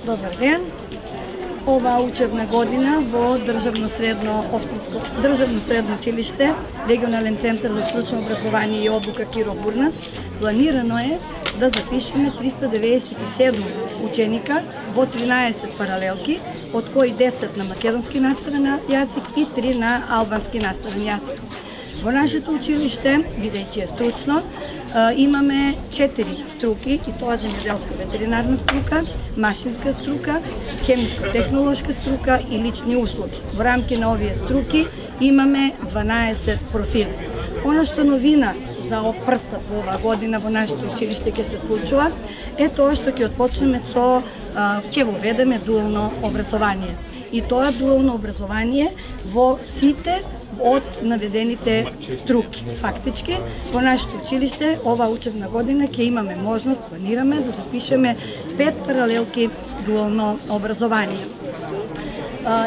Добар ден. Ова учебна година во Државно средно училиште, Регионален центар за стручно образование и обука Киро Бурнас, планирано е да запишеме 397 ученика во 13 паралелки, од кои 10 на македонски наставен јазик и 3 на албански наставен јазик. Во нашето училиште, бидејќи е стручно, имаме 4 струки, и тоа земјоделска ветеринарна струка, машинска струка, хемиско-технолошка струка и лични услуги. Во рамки на овие струки имаме 12 профили. Она што новина за прв пат во оваа година во нашето училиште ќе се случува е тоа што ќе отпочнеме со ќе воведеме дуално образование. И тоа дуално образование во сите од наведените струки. Фактички, во нашето училиште ова учебна година ќе имаме можност, планираме да запишеме 5 паралелки дуално образование.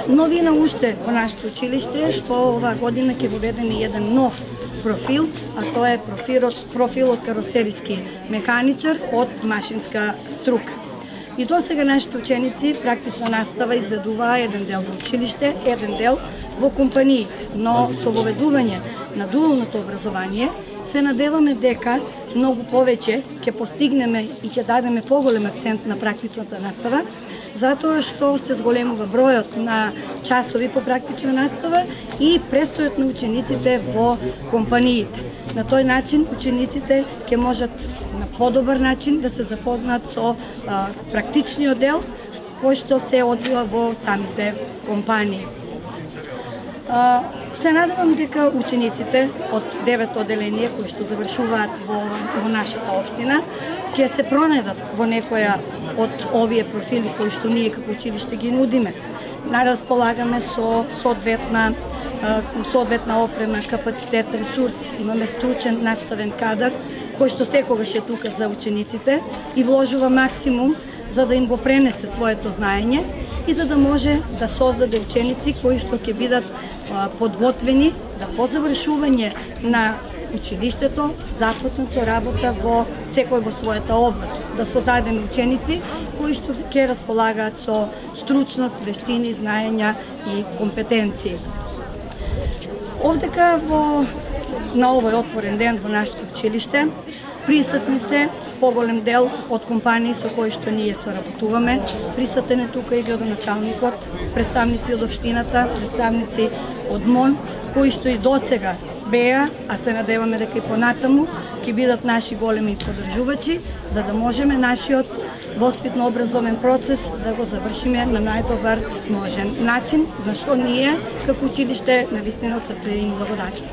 Новина уште во нашето училиште е што оваа година ќе воведеме еден нов профил, а тоа е профилот каросериски механичар од машинска струка. И до сега нашите ученици практична настава изведуваа еден дел во училиште, еден дел во компаниите, но со воведување на дуалното образование се надеваме дека многу повеќе ќе постигнеме и ќе дадеме поголем акцент на практичната настава, затоа што се зголемува бројот на часови по практична настава и престојот на учениците во компаниите. На тој начин учениците ќе можат на подобар начин да се запознаат со практичниот дел кој што се одвива во самите компании. Се надевам дека учениците од 9 оделение кои што завршуваат во нашата општина ќе се пронајдат во некоја од овие профили кои што ние како училиште ги нудиме. Располагаме со соодветна опрема, капацитет, ресурси. Имаме стручен наставен кадар кој што секогаш е тука за учениците и вложува максимум за да им го пренесе своето знаење и за да може да создаде ученици кои што ќе бидат подготвени да по завршување на училиштето започнат со работа во секој во својата област, да создадеме ученици кои што ќе располагаат со стручност, вештини, знаења и компетенции. Овдека на овој отворен ден во нашето училиште присутни се поголем дел од компании со кои што ние соработуваме. Присутен е тука и градоначалникот, представници од општината, представници од МОН, кои што и досега беа, а се надеваме дека и понатаму ќе бидат наши големи поддржувачи, за да можеме нашиот воспитно-образовен процес да го завршиме на најдобар можен начин, за што ние како училиште навистина од срце им благодариме.